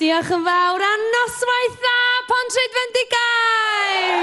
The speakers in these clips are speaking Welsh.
Diolch yn fawr a noswaith dda Pontrhydfendigaid!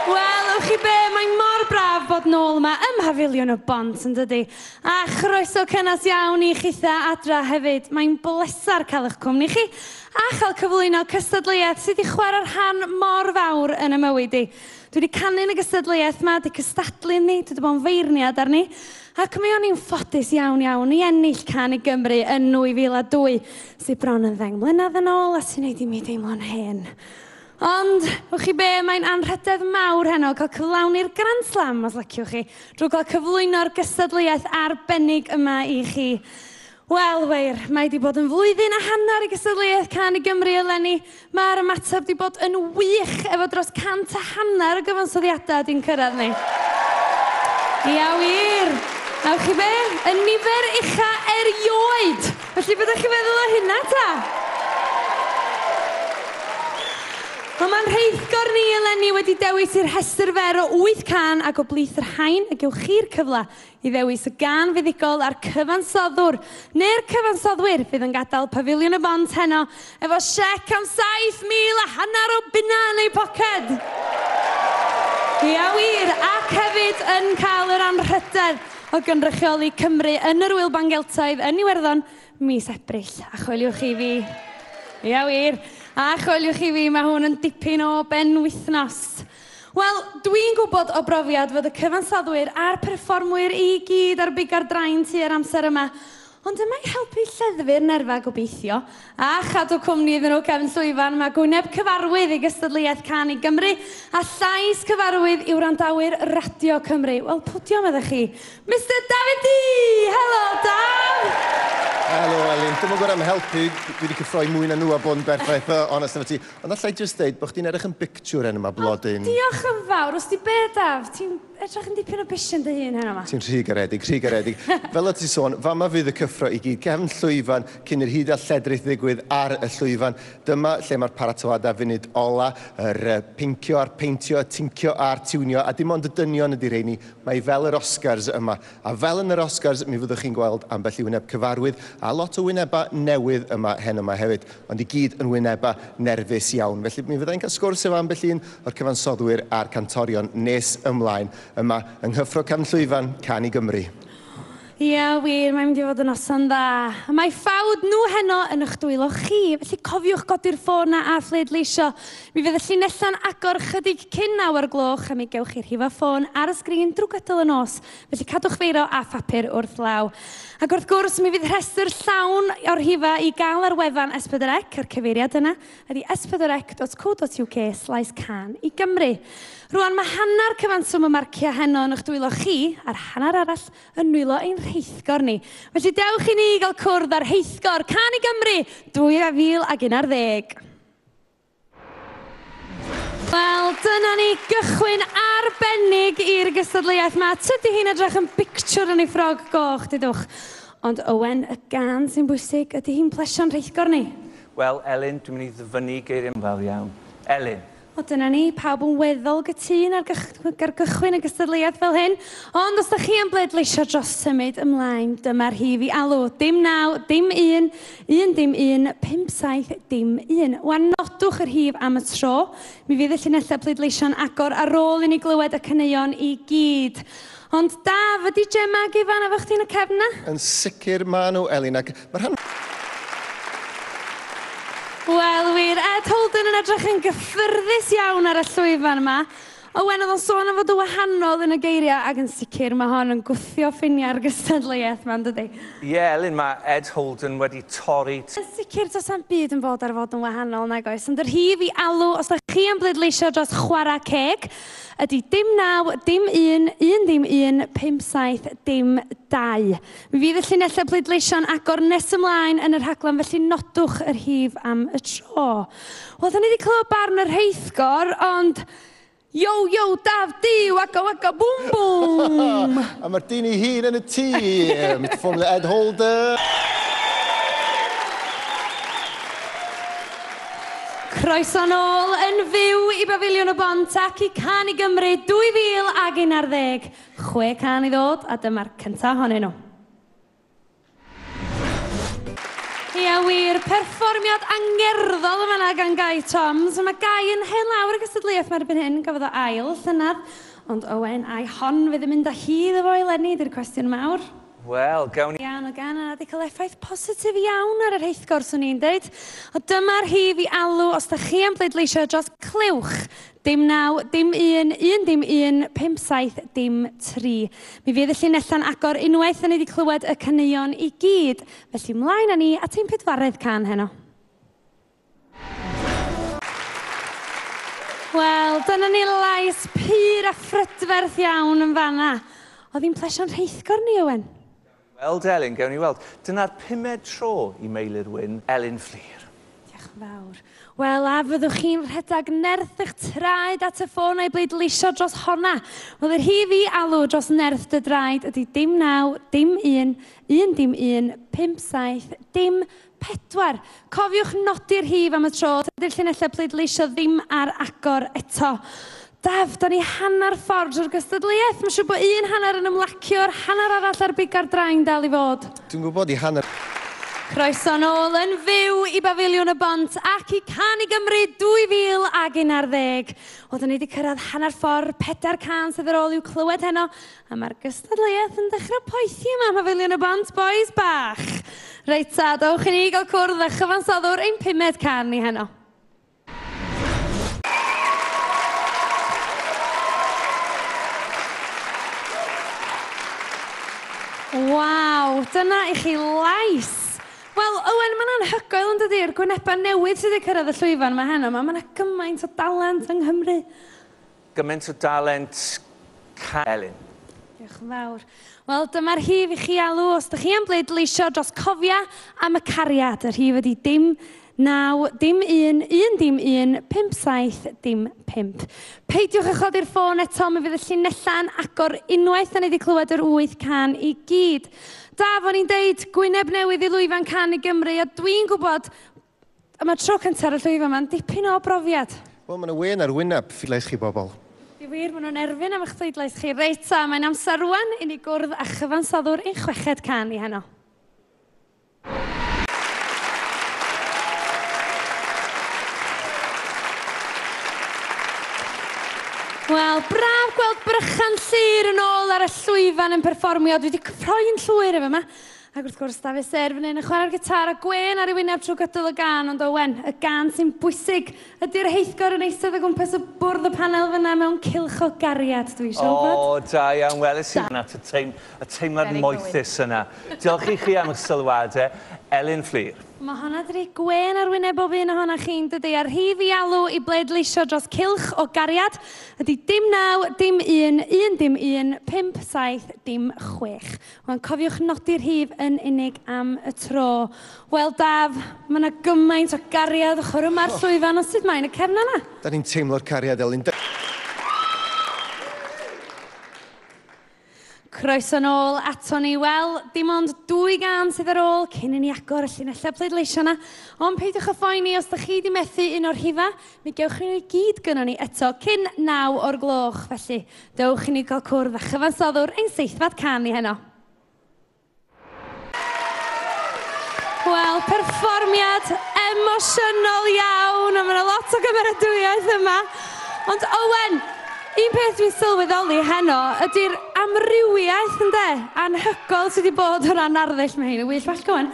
Wel, ewch chi be, mae mor braf bod nôl yma ym Mhafiliwn y Bont, yn dydi? A chroeso cynnes iawn i chitha adra hefyd. Mae'n bleser cael eich cwmni chi a chael cyflwyno cystadleuaeth sydd wedi chwarae rhan mor fawr yn y mywyd i. Dwi wedi canu yn y gystadleuaeth 'ma, 'di cystadlu ynddi, dwi 'di bod yn feirniad arni, ac mi o'n i'n ffodus iawn iawn i ennill Cân i Gymru yn 2002, sydd bron yn ddeng mlynedd yn ôl a sy'n neud i mi deimlo'n hen. Ond, wch chi be, mae'n anrhydedd mawr heno cael cyflawni'r Grand Slam, os liciwch chi, drwy gael cyflwyno'r gystadleuaeth arbennig yma i chi. Wel, wir, mae 'di bod yn flwyddyn a hanner i gystadleuaeth Cân i Gymru eleni. Mae'r ymateb 'di bod yn wych, efo dros 150 o gyfansoddiadau 'di'n cyrraedd ni. Ia, wir! A wch chi be? Y nifer ucha erioed! Felly, be dach chi'n feddwl o hynna, ta? Wel, mae'n rheithgor ni eleni wedi dewis i'r rhestr fer o wyth cân ac o blith yr rhain y gewch chi'r cyfle i ddewis y gân fuddugol a'r cyfansoddwr neu'r cyfansoddwyr fydd yn gadael Pafiliwn y Bont heno efo siec am 7,500 o bunnau yn eu poced! Ia wir, ac hefyd yn cael yr anrhydedd o gynrychioli Cymru yn yr Ŵyl Ban Geltaidd yn Iwerddon mis Ebrill. A choeliwch chi fi... Ia wir, a choeliwch chi fi, mae hwn yn dipyn o benwythnos. Wel, dwi'n gwybod o brofiad fod y cyfansoddwyr a'r perfformwyr i gyd ar biga'r drain tua'r amser yma, ond yma i helpu lleddfu'r nerfau gobeithio, a chadw cwmni iddyn nhw cefn llwyfan, mae gwyneb cyfarwydd i gystadleuaeth Cân i Gymru, a llais cyfarwydd i wrandawyr Radio Cymru. Wel, pwdio meddech chi. Mister Dafydd Dee! Helo, Daf! Helo, Elin. Dwi'm yn gwybod am helpu, dwi wedi cyffroi mwy na nhw a bod yn berffaith onest efo ti. Ond alla i jyst ddeud bod chdi'n edrych yn bictiwr heno 'ma, blodyn. O, diolch yn fawr. Wst ti be, Daf? Ti'n edrych yn dipyn o bishyn dy hun heno 'ma. Ti'n rhy garedig, rhy garedig. Fel o't ti'n sôn, fama fydd y cyffro i gyd. Cefn llwyfan, cyn i'r hud a lledrith ddigwydd ar y llwyfan. Dyma lle mae'r paratoadau funud ola, yr pincio a'r peintio, y tincio a'r tiwnio, a dim ond y dynion ydi rheini. Mae fel yr Oscars yma. A fel yn yr Oscars, mi fyddwch chi'n gweld ambell i wyneb cyfarwydd a lot o wynebau newydd yma heno 'ma hefyd. Ond i gyd yn wynebau nerfus iawn. Felly mi fydda i'n cael sgwrs efo ambell un o'r cyfansoddwyr a'r cantorion nes ymlaen yma yng nghyffro cefn llwyfan Cân i Gymru. Ia wir, mae'n mynd i fod yn noson dda. A mae ffawd nhw heno yn eich dwylo chi, felly cofiwch godi'r ffôn 'na a phleidleisio. Mi fydd y llinellau'n agor chydig cyn naw o'r gloch a mi gewch chi rhifo ffôn ar y sgrin drwy gydol y nos. Felly cadwch feiro a phapur wrth law. Ac wrth gwrs, mi fydd rhestr llawn o'r rhifau i gael ar wefan S4C, a'r cyfeiriad yna ydy s4c.co.uk slaes cân i Gymru. Rwan, mae hanner cyfanswm y marciau heno yn eich dwylo chi, a'r hanner arall yn nwylo ein rheithgor ni. Felly dewch i ni gael cwrdd â'r rheithgor Cân i Gymru 2011. Wel, dyna ni gychwyn arbennig i'r gystadleuaeth 'ma. Tydi hi'n edrych yn bictiwr yn ei ffrog goch, dudwch. Ond Owen, y gân sy'n bwysig, ydy hi'n plesio'n rheithgor ni? Wel, Elin, dwi'n mynd i ddyfynnu geiriau fawr iawn. Elin. O, dyna ni, pawb yn weddol gytûn ar ar gychwyn y gystadleuaeth fel hyn. Ond os da chi am bleidleisio dros symud ymlaen, dyma'r rhif i alw. Dim naw, dim un, 1 dim 1, 5 7 dim 1. Wan nodwch y rhif am y tro. Mi fydd y llinellau pleidleisio'n agor ar ôl i ni glywed y caneuon i gyd. Ond Daf, ydy Gemma ag Ifan efo chdi yn y cefn 'na? Yn sicr ma' nhw, Elin, ac ma' rhan... Wel wir, Ed Holden yn edrych yn gyffyrddus iawn ar y llwyfan yma. Owen, oedd o'n sôn am fod yn wahanol yn y geiriau, ac yn sicr mae hon yn gwthio ffiniau'r gystadleuaeth 'ma, yn dydi? Ie, Elin, mae Ed Holden wedi torri. Yn sicr, does na'm byd yn bod ar fod yn wahanol, nag oes? Ond y rhif i alw, os da chi am bleidleisio dros Chwarae Ceg, ydy dim naw, dim un, un ddim un, pump saith, dim dau. Mi fydd y llinellau pleidleisio'n agor nes ymlaen yn y rhaglen, felly nodwch y rhif am y tro. Wel, da ni wedi clywed barn y rheithgor, ond Yo, yo, Daf, di, waka, waka, boom, boom! A mae'r dyn ei hun yn y tŷ, Mister Formula Ed Holden. Croeso nôl yn fyw i Bafiliwn y Bont ac i Cân i Gymru 2011. Chwe cân i ddod, a dyma'r cyntaf ohonyn nhw. Ia wir, perfformiad angerddol yn fan'na gan Gai Toms. Mae Gai yn hen lawr y gystadleuaeth 'ma erbyn hyn, gafodd o ail llynedd. Ond Owen, ai hon fydd yn mynd â hi iddo fo eleni, 'di'r cwestiwn mawr. Wel, gawn ni... Iawn, o gan yna 'di cael effaith positif iawn ar y rheithgor, swn i'n deud. O dyma'r rhif i alw os da chi am bleidleisio dros Clywch. Dim 9, dim 1, 1 dim 1, 5 7, dim 3. Mi fydd y llinellau'n agor unwaith da ni wedi clywed y caneuon i gyd. Felly mlaen â ni at ein pedwaredd cân heno. Wel, dyna ni lais pur a phrydferth iawn yn fanna. Oedd hi'n plesio'n rheithgor ni, Owen? Weld Elin, gewn ni weld. Dyna'r pumed tro i Meilir Wyn, Elin Fflur. Diolch yn fawr. Wel, a fyddwch chi'n rhedeg nerth eich traed at y ffôn a'i bleidleisio dros honna? Wel, yr rhif i alw dros nerth dy draed ydy dim 9, dim 1, 1 dim 1, 5 7, dim 4. Cofiwch nodi'r rhif am y tro, dydy'r llinellau pleidleisio ddim ar agor eto. Daf, da ni hanner ffordd drwy'r gystadleuaeth. Mae'n siŵr bod un hanner yn ymlacio'r hanner arall ar biga'r drain dal i fod. Dwi'n gwybod i hanner... Croeso nôl yn fyw i Bafiliwn y Bont ac i Cân i Gymru 2011. Wel, da ni wedi cyrraedd hanner ffordd, pedair cân sydd ar ôl i'w clywed heno, a mae'r gystadleuaeth yn dechrau poethi yma ym Mhafiliwn y Bont, bois bach. Reit ta, dowch i ni gael cwrdd â chyfansoddwr ein pumed cân ni heno. Waw, dyna i chi lais! Wel, Owen, mae'n anhygoel yn dydy, yr gwynebau newydd sydd wedi cyrraedd y llwyfan yma heno 'ma. Mae 'na gymaint o dalent yng Nghymru. Gymaint o dalent, Elin. Diolch yn fawr. Wel, dyma'r rhif i chi alw os ydych chi am bleidleisio dros Cofia am y Cariad. Y rhif ydy dim 9, dim 1, 1 dim 1, 5 7, dim 5. Peidiwch â chodi'r ffôn eto, mi fydd y llinellau'n agor unwaith da ni wedi clywed yr 8 cân i gyd. Daf, o'n i'n deud, gwyneb newydd i lwyfan Cân i Gymru, a dwi'n gwybod, am y tro cyntaf ar y llwyfan ma'n dipyn o brofiad. Wel, mae 'na wên ar wyneb ffidlais chi bobl. Di wir, maen nhw'n erfyn am eich pleidlais chi. Reit ta, mae'n amser rwan i ni gwrdd â chyfansoddwr ein chweched cân ni heno. Wel, braf gweld Brychan Llŷr yn ôl ar y llwyfan yn perfformio. Dwi wedi cyffroi'n llwyr efo yma. Ac wrth gwrs, Dafydd Ser fan hyn yn chwarae'r gitar a gwên ar ei wyneb trwy gydol y gân, ond Owen, y gân sy'n bwysig ydy'r rheithgor yn eistedd o gwmpas y bwrdd y panel fyna mewn cylch o gariad, dwi eisiau wybod. O, da iawn, weles i hwnna, y, teim, y teimlad moethus yna. Diolch i chi am eich sylwadau. Elin Fflur. Mae honna 'di rhoi gwên ar wyneb bob un ohonoch chi'n dydi? A'r rhif i alw i bleidleisio dros Cylch o Gariad ydy dim 9, dim 1, 1 dim 1, 5 7, dim 6. Wan, cofiwch nodi'r rhif yn unig am y tro. Wel, Daf, mae 'na gymaint o gariad ochr yma'r llwyfan, ond sut mae yn y cefn yna? Da ni'n teimlo'r cariad, Elin. Croeso nôl ato ni. Wel, dim ond dwy gân sydd ar ôl cyn i ni agor y llinellau pleidleisio 'na. Ond peidiwch â phoeni os da chi 'di methu un o'r rhifa, mi gewch chi nhw i gyd gynnon ni eto cyn 9 o'r gloch. Felly, dewch i ni gael cwrdd â chyfansoddwr ein seithfed cân ni heno. Wel, perfformiad emosiynol iawn, a mae 'na lot o gymeradwyaeth yma. Ond Owen, un peth dwi'n sylweddoli heno ydy'r amrywiaeth, ynde, anhygoel sydd wedi bod o ran arddull. Mae hein yn wych bach, Owen.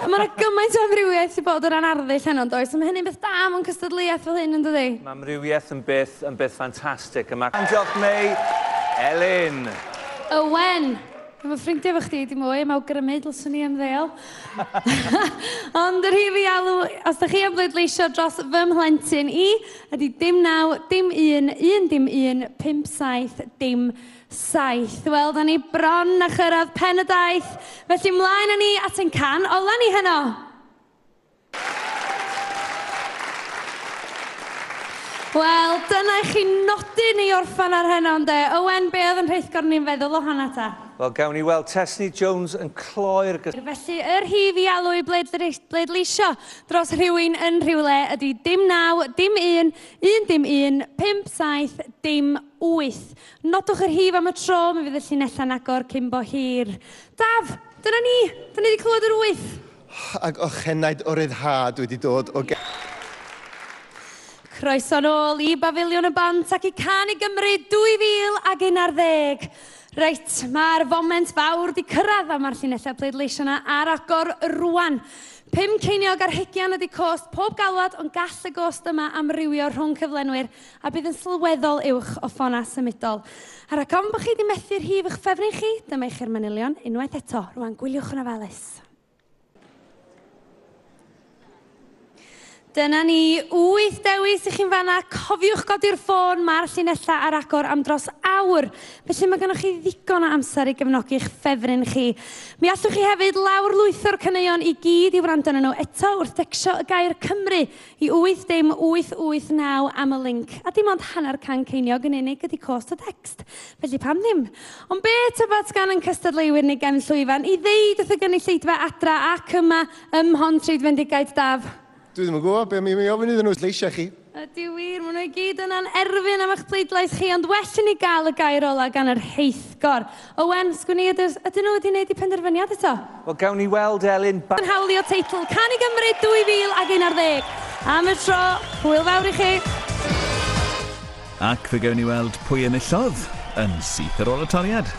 Mae 'na gymaint o amrywiaeth sydd wedi bod o ran arddull heno, yn does? A mae hynny'n beth da mewn cystadleuaeth fel hyn, yn dydi? Mae amrywiaeth yn beth, yn beth ffantastig. A mae... Diolch, Mei. Elin. Owen. Efo ffrindiau efo chdi, dim mwy, am awgrymu dylswn i ymddeol. Ond yr rhif i alw, os da chi am bleidleisio dros fy mhlentyn i, ydy dim 9, dim 1, 1 dim 1, 5 7, dim 7. Wel, da ni bron a chyrraedd pen y daith, felly mlaen â ni at ein cân ola ni heno. Wel, dyna i chi nodyn i orffan ar heno, ynde? Owen, be oedd yn rheithgor ni'n feddwl o honna ta? Wel, gawn ni weld Tesni Jones yn cloi'r gys... Felly, yr rhif i alw i bleidleisio dros rhywun yn rhywle ydy dim 9, dim 1, 1 dim 1, 5 7, dim 8. Nodwch yr rhif am y tro, mi fydd y llinellau'n agor cyn bo hir. Daf, dyna ni! Da ni wedi clywed yr wyth. Ac ochenaid o ryddhad wedi dod o Croeso nôl i Bafiliwn y Bont ac i Cân i Gymru 2011. Reit, mae'r foment fawr 'di cyrraedd a mae'r llinellau pleidleisio 'na ar agor rwan. 5 ceiniog ar hugian ydi cost pob galwad, ond gall y gost yma amrywio rhwng cyflenwyr a bydd yn sylweddol uwch o ffonau symudol. A rhag ofn bod chi 'di methu rhif eich ffefryn chi, dyma i chi'r manylion unwaith eto. Rwan, gwyliwch yn ofalus. Dyna ni, 8 dewis i chi'n fanna. Cofiwch godi'r ffôn, mae'r llinellau ar agor am dros awr. Felly mae gennych chi ddigon o amser i gefnogi'ch ffefryn chi. Mi allwch chi hefyd lawrlwytho'r caneuon i gyd i wrando arnyn nhw eto wrth decsio y gair Cymru i 8 dim 8 8 9 am y linc. A dim ond hanner can ceiniog yn unig ydy cost y text. Felly pam ddim? Ond be tybed gan ein cystadleuwyr ni gefn llwyfan i ddeud wrth y gynulleidfa adra ac yma ym Mhontrhydfendigaid, Daf? Dwi ddim yn gwybod be mi ofyn iddyn nhw, lleisiau chi. Ydy wir, maen nhw i gyd yna'n erfyn am eich pleidlais chi, ond well i ni gael y gair ola gan yr rheithgor. Owen, sgwn i, ydyn nhw wedi gwneud eu penderfyniad eto? Wel, gawn ni weld, Elin. Yn hawlio teitl Cân i Gymru 2011. Am y tro, hwyl fawr i chi. Ac fe gawn ni weld pwy enillodd yn syth ar ôl y toriad.